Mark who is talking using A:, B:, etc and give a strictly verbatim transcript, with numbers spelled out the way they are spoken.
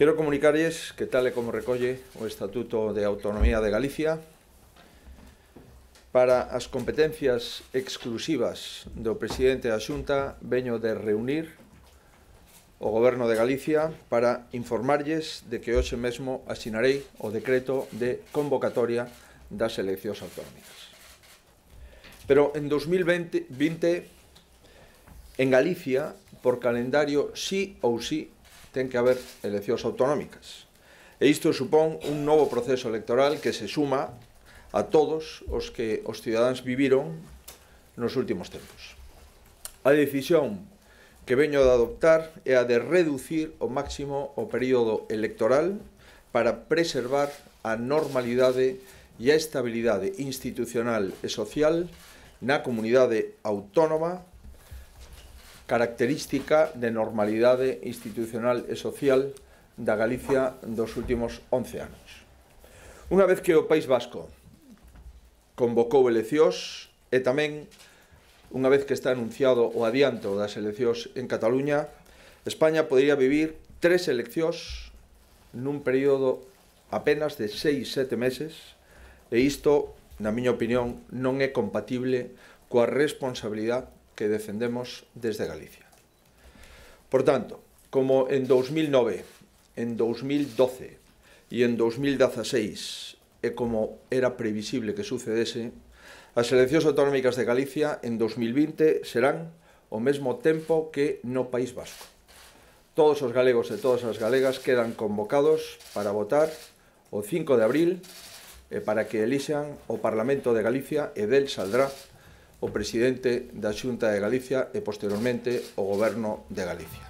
A: Quero comunicarlles que, tal e como recolle o Estatuto de Autonomía de Galicia, para as competencias exclusivas do presidente da Xunta veño de reunir o Goberno de Galicia para informarlles de que hoxe mesmo asinarei o decreto de convocatoria das eleccións autonómicas. Pero en dos mil vinte, en Galicia, por calendario, sí ou sí, ten que haber eleccións autonómicas. E isto supón un novo proceso electoral que se suma a todos os que os cidadáns viviron nos últimos tempos. A decisión que veño de adoptar é a de reducir ao máximo o período electoral para preservar a normalidade e a estabilidade institucional e social na comunidade autónoma, característica de normalidade institucional e social da Galicia dos últimos once anos. Unha vez que o País Vasco convocou eleccións e tamén unha vez que está anunciado o adianto das eleccións en Cataluña, España podería vivir tres eleccións nun período apenas de seis, sete meses e isto, na miña opinión, non é compatible coa responsabilidade que defendemos desde Galicia. Por tanto, como en dos mil nove, en dos mil doce e en dos mil dezaseis e como era previsible que sucedese, as eleccións autonómicas de Galicia en dos mil vinte serán ao mesmo tempo que no País Vasco. Todos os galegos e todas as galegas quedan convocados para votar o cinco de abril e para que elixan o Parlamento de Galicia e del saldrá o presidente da Xunta de Galicia e posteriormente o Goberno de Galicia.